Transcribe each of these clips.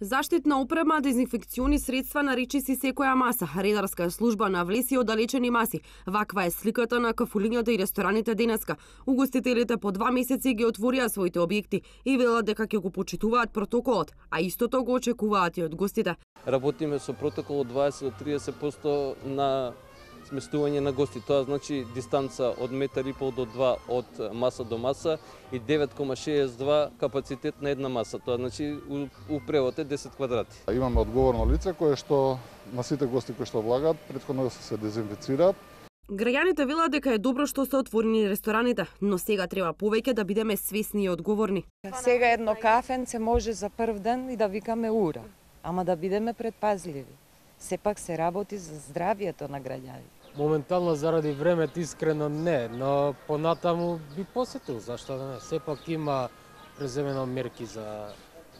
Заштитна опрема, дезинфекциони средства на речиси секоја маса, редарска служба на влеси оддалечени маси. Ваква е сликата на кафулињата и рестораните денеска. Угостителите по 2 месеци ги отворија своите објекти и велат дека ќе го почитуваат протоколот, а истото го очекуваат и од гостите. Работиме со протокол од 20 до 30% на сместување на гости. Тоа значи дистанца од 1,5 до 2 од маса до маса и 9,62 капацитет на една маса. Тоа значи у превод е 10 квадрати. Имаме одговорно лице кое што на сите гости кои што влагаат претходно се дезинфицираат. Граѓаните велат дека е добро што се отворени рестораните, но сега треба повеќе да бидеме свесни и одговорни. Сега едно кафенце може за прв ден и да викаме ура, ама да бидеме предпазливи. Сепак се работи за здравието на граѓаните. Моментално заради времето искрено не, но понатаму би посетил, зашто да не. Сепак има преземено мерки за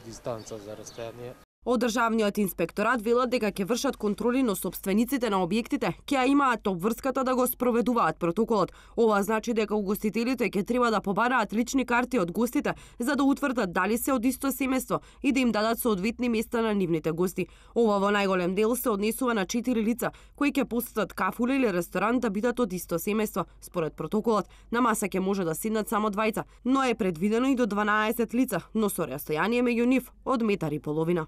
дистанца, за растојание. Од државниот инспекторат велат дека ќе вршат контроли, но сопствениците на објектите ќе имаат обврската да го спроведуваат протоколот. Ова значи дека угостителите ќе треба да побараат лични карти од гостите за да утврдат дали се од исто семејство и да им дадат соодветни места на нивните гости. Ова во најголем дел се однесува на 4 лица кои ќе посетат кафула или ресторан да бидат од исто семејство. Според протоколот, на маса ќе може да седнат само двајца, но е предвидено и до 12 лица, но со растојание меѓу нив од 1,5 метри.